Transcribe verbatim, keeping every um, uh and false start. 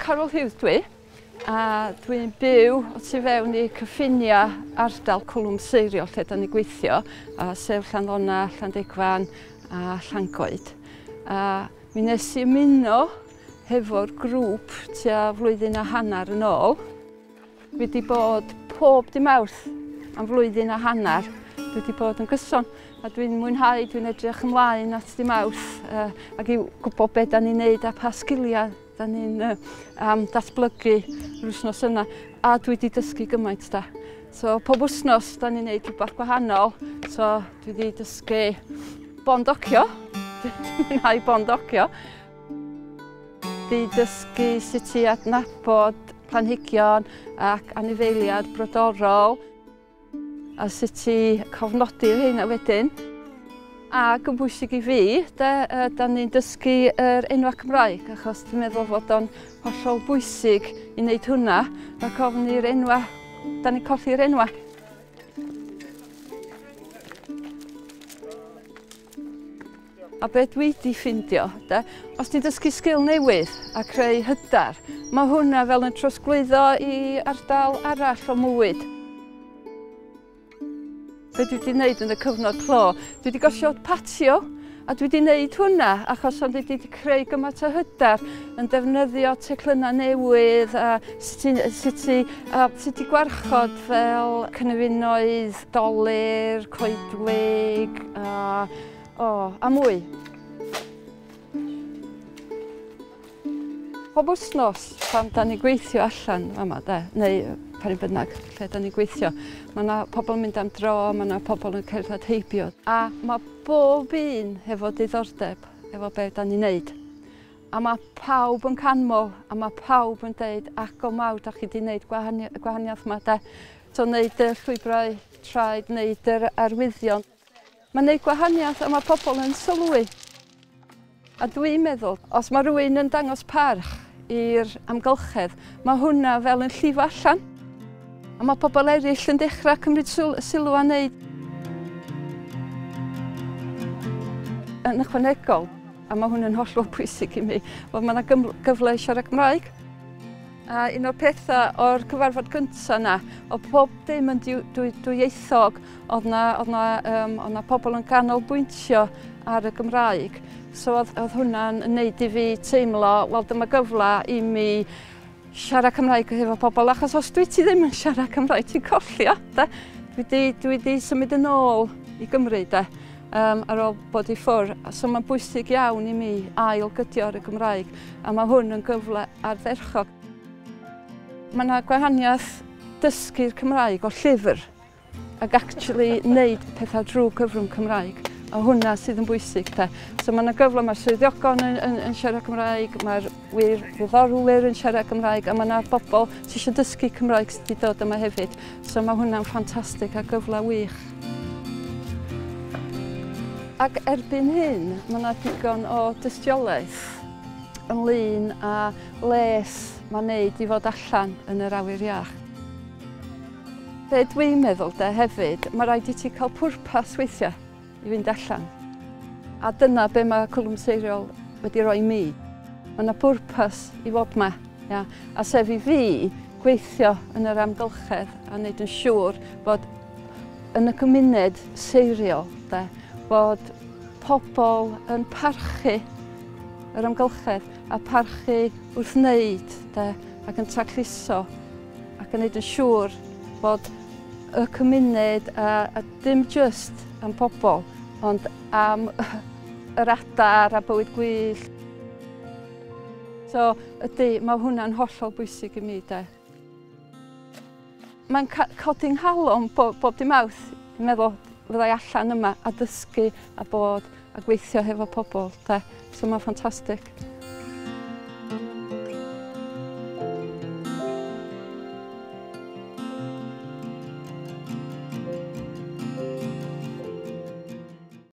Carol Hughes dwi, a dwi'n byw o tu fewn i cyffiniau ardal Cwlwm Seiriol lle da ni'n gweithio, a sef Llanddona, Llandegfan a Llangoed. A mi nes i ymuno hefo'r grŵp tua flwyddyn a hanner yn ôl. Dwi wedi bod pob dim Mawrth am flwyddyn a hanner. Dwi wedi bod yn gyson a dwi'n mwynhau, dwi'n edrych ymlaen at dim Mawrth uh, ac i gwybod beth da ni'n neud a pa sgiliau da ni'n uh, um, datblygu yr wythnos yna. A dwi wedi dysgu gymaint da. So pob wythnos da ni'n neud rhywbeth gwahanol. So dwi wedi dysgu bondocio. Dwi'n mwynhau bondocio. Dwi wedi dysgu sut i adnabod planhigion ac anifeiliaid brodorol a sut i cofnodi'r rheina wedyn. Ac yn bwysig i fi, da, da ni'n dysgu yr enwau Cymraeg, achos dwi'n meddwl fod o'n hollol bwysig i wneud hwnna, rhag ofn i'r enwau, da ni'n colli'r enwau. A be dwi wedi ffindio, da, os ti'n dysgu sgil newydd a creu hyder, mae hwnna fel yn trosglwyddo i ardal arall o mywyd. Be dwi wedi wneud yn y cyfnod clo, dwi wedi gosod patio a dwi wedi wneud hwnna achos ond dwi wedi creu gymaint o hyder yn defnyddio teclynnau newydd a sut i, sut i, a sut i gwarchod fel cynefinoedd, dolur, coedwig a, o, a mwy. Pob wythnos pan da ni'n gweithio allan yma, de, neu pan bynnag lle da ni'n gweithio, mae yna pobl yn mynd am dro, mae yna pobl yn cerdded heibio. A mae bob un hefo diddordeb efo be da ni'n neud. A mae pawb yn canmol, a mae pawb yn deud, ac o mawr, da chi wedi wneud gwahaniaeth yma, de. So wneud y llwybrau traed, wneud yr arwyddion. Mae'n wneud gwahaniaeth a mae pobl yn sylwi. A dwi'n meddwl, os mae rhywun yn dangos parch i'r amgylchedd, mae hwnna fel yn llifo allan. A mae pobl eraill yn dechrau cymryd sylw a wneud. Yn ychwanegol, a mae hwn yn hollol bwysig i mi, fod mae yna gyfle i siarad Cymraeg. A un o'r pethau o'r cyfarfod gyntaf yna, oedd pob dim yn dwyieithog, oedd yna, oedd yna, um, oedd yna pobl yn canolbwyntio ar y Gymraeg. So oedd, oedd hwnna'n wneud i fi teimlo, wel dyma gyfle i mi siarad Cymraeg efo pobl, achos os dwi ti ddim yn siarad Cymraeg, ti'n colli o, de. Dwi di, dwi di symud yn ôl i Gymru, de, um, ar ôl bod i ffwrdd. So mae'n bwysig iawn i mi ail-gydio ar y Gymraeg, a mae hwn yn gyfle ardderchog. Mae yna gwahaniaeth dysgu'r Cymraeg o llyfr ac actually wneud pethau drwy cyfrwng Cymraeg. A hwnna sydd yn bwysig, de. So mae yna gyfle, mae'r swyddogion yn, yn, yn siarad Cymraeg, mae'r wirfoddolwyr yn siarad Cymraeg, a mae yna bobl sydd eisiau dysgu Cymraeg sydd wedi dod yma hefyd. So mae hwnna'n ffantastig a gyfle wych. Ac erbyn hyn, mae yna digon o dystiolaeth ynglyn â les mae'n neud i fod allan yn yr awyr iach. Be dwi'n meddwl de hefyd, mae rhaid i ti cael pwrpas weithiau i fynd allan. A dyna be mae Cwlwm Seiriol wedi rhoi mi. Mae yna bwrpas i fod yma. Ia? A sef i fi gweithio yn yr amgylchedd a wneud yn siŵr bod yn y gymuned Seiriol, de, bod pobl yn parchu yr amgylchedd a parchu wrth wneud, de, ac yn tacluso ac yn wneud yn siŵr bod y cymuned a, a dim just am pobl, ond am yr adar a bywyd gwyllt. So ydy, mae hwnna'n hollol bwysig i mi, de. Mae'n codi'n nghalon bob, bob dim Mawrth, dwi'n meddwl fyddai allan yma a dysgu a bod a gweithio hefo pobl, de. So mae'n ffantastig.